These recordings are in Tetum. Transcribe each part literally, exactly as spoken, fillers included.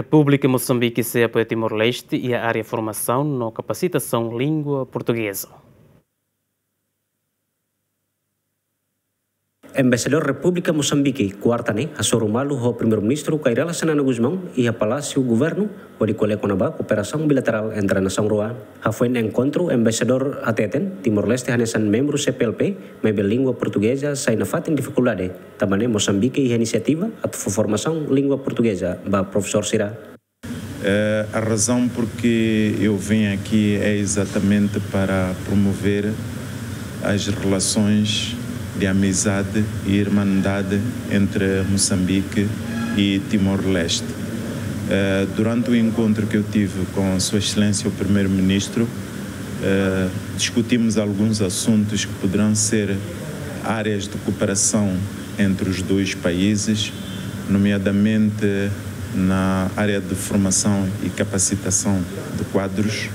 Repúblika Mosambike sei apoia Timor-Leste iha área formasaun no kapasitasaun língua portugeza. Embaixadór Repúblika Mosambike, kuarta ne'e, hasoru malu ho Primeiru-Ministru Kay Rala Xanana Gusmão iha Palásiu Governu, hodi ko'alia kona-ba kooperasaun bilaterál entre nasaun rua. Hafoin enkontru, Embaixadór hateten, Timor-Leste hanesan membru C P L P, maibé língua portugeza sai nafatin difikuldade. Tanba ne'e Mosambike iha inisiativa atu fó formasaun língua portugeza ba profesór sira. Eh, a razão por que eu vim aqui é exatamente para promover as relações de amizade e irmandade entre Moçambique e Timor-Leste. Eh, durante o encontro que eu tive com Sua Excelência o Primeiro-Ministro, eh, discutimos alguns assuntos que poderão ser áreas de cooperação entre os dois países, nomeadamente na área de formação e capacitação de quadros,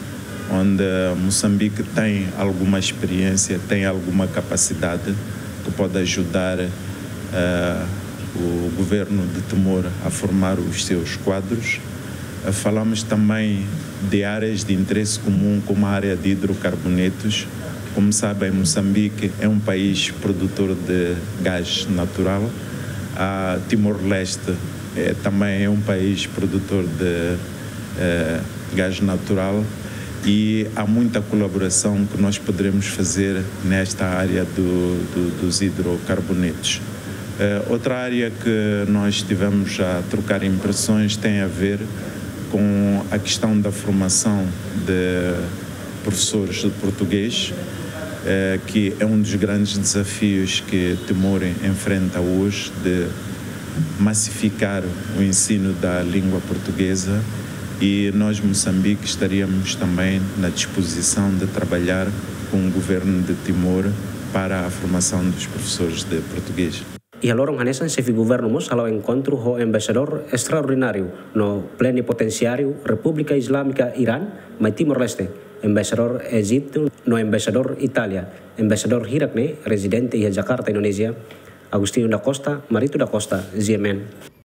onde Moçambique tem alguma experiência, tem alguma capacidade que pode ajudar, eh, o governo de Timor a formar os seus quadros. Eh, falamos também de áreas de interesse comum, como a área de hidrocarbonetos. Como sabem, Moçambique é um país produtor de gás natural. A Timor-Leste, eh, também é um país produtor de, eh, gás natural e há muita colaboração que nós poderemos fazer nesta área do, do, dos hidrocarbonetos. Eh, outra área que nós tivemos a trocar impressões tem a ver com a questão da formação de professores de português, eh, que é um dos grandes desafios que Timor enfrenta hoje, de massificar o ensino da língua portuguesa, e nós, Moçambique, estaríamos também na disposição de trabalhar com o governo de Timor para a formação dos professores de português. Iha loron hanesan, xefe governu mós hala'o enkontru ho embaixadór estraordináriu no plenipotensiáriu Repúblika Islámika Irán mai Timor-Leste, embaixadór Ejitu no embaixadór Itália. Embaixadór hirak ne'e rezidente iha Jakarta, Indonézia, Agostinho da Costa, Marito da Costa, G M N.